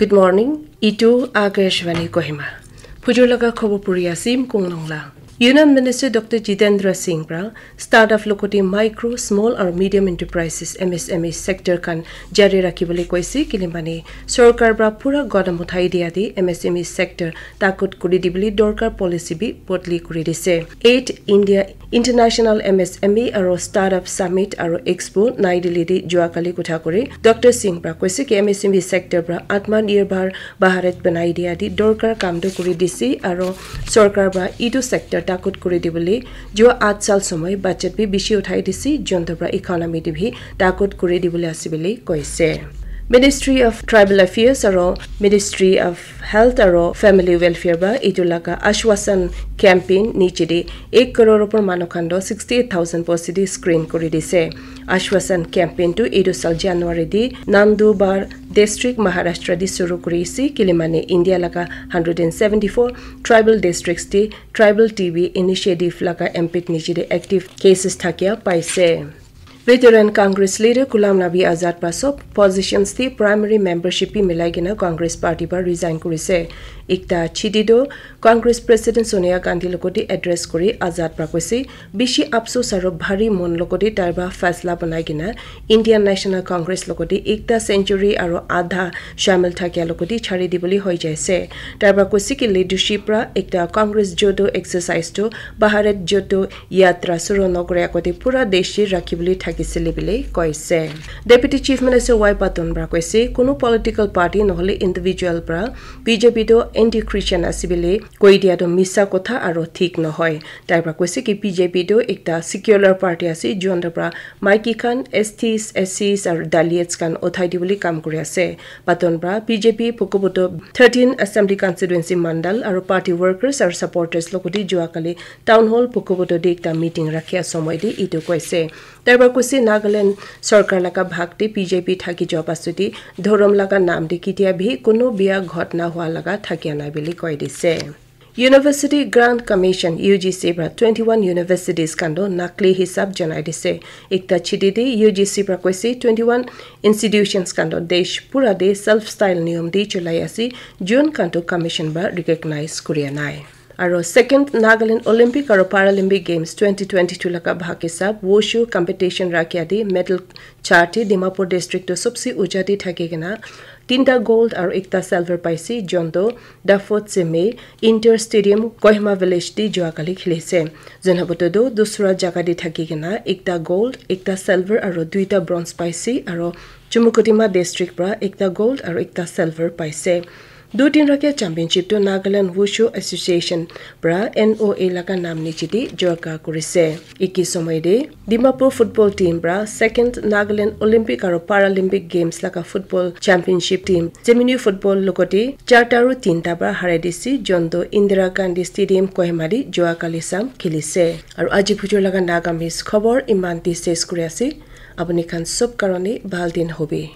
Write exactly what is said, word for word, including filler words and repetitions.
Good morning. Itu Akashvani Kohima. Phujur laga khobor puri asim kong long la. Union Minister Doctor Jitendra Singh pra startup lokoti micro, small aru medium enterprises, M S M E sector khan jari rakhi bole koise, kilimani sorkar pra pura godam uthai dia di M S M E sector takut kuri di bole dorkar policy bi bodli kuri dise. Eight India International M S M E aru Startup Summit aru Expo Nai Delhi te jua kali kotha kuri Doctor Singh pra koise ki M S M E sector pra Atmanirbhar Bharat banai dia di dorkar kam tu kuri dise aru sorkar pra itu sector takut kuri di bole jua at sal somoi budget bi bishi uthai dise, jonto pra economy te bi takut kuri di bole ase bole koise. Ministry of Tribal Affairs aru Ministry of Health aru Family Welfare pra itu laga Ashwasan campaign niche te ek crore upor manu khan toh sixty eight thousand post te screen kuri dise. Ashwasan campaign tu itu sal January te Nandubar district Maharashtra te shuru kuri ase, kilimani India laga hundred and seventy four tribal districts te tribal T B initiative laga impact niche te active cases thakia paise. Veteran Congress leader Ghulam Nabi Azad pra sob positions te primary membership bi milai kena Congress party pra resign kurise. Ekta chiti toh Congress President Sonia Gandhi lokoti address kuri Azad pra koise, bishi apsos aru bhari mon lokoti tai pra faisla banai kena Indian National Congress lokoti ekta century aru adha shamil thakia lokoti chari dibole hoi jaise. Tai pra koise ki leadership pra ekta Congress Jodo exercise tu Bharat Jodo Yatra suru nokore agote pura desh te rakhi bole thakisile bole koise. Deputy Chief Minister Y Patton pra koise, kunu political party nohole individual pra B J P tu anti-Christian ase bole koi dia tu misa kotha aru thik nohoi. Tai pra koise ki B J P tu ekta secular party ase, jonto pra maiki khan, S Ts, S Cs aru Dalits khan uthai di bole kam kuri ase. Patton pra B J P Bhokoboto thirteen Assembly Constituency Mandal aru party workers aru supporters lokoti jua kali Town Hall Bhokoboto te ekta meeting rakhia somoi te itu koise. Tai pra koise Nagaland sorkar laga bhag te B J P thaki jua pasute dhorom laga nam te ketia bi kunu bia ghotna hua laga thakia nai bole koi dise. University Grant Commission, U G C pra twenty one universities khan toh nakli hisab janai dise. Ekta chiti te U G C pra koise twenty one institutions khan toh desh pura te self style niyom te cholai ase, jun khan toh commission pra recognize kuria nai. Aro second Nagaland Olympic aro Paralympic Games twenty twenty-two laga bhag hisab wushu competition rakhia te medal chart te Dimapur district toh sobse uja te thaki kena tinta gold aro ekta silver paise, jonto Dafot Seme Inter Stadium Kohima Village te jua kali khilise. Jonhaboto toh dusra jaga te thaki kena ekta gold, ekta silver aro duita bronze paise, aro Chumukodima district pra ekta gold aro ekta silver paise. Dutin rakia championship tu Nagaland Wushu Association pra N O A laga nam niche te jorka kurise. Eki somoi te Dimapur football team pra second Nagaland Olympic aro Paralympic Games laga football championship team Zemini football logote charta ru tinta pra harai dise, jonto Indira Gandhi Stadium Kohima te jua kali sam khilise. Aro aji bujur laga Nagamese khobor iman te ses kuri ase. Apuni khan sob karone bhal din hobi.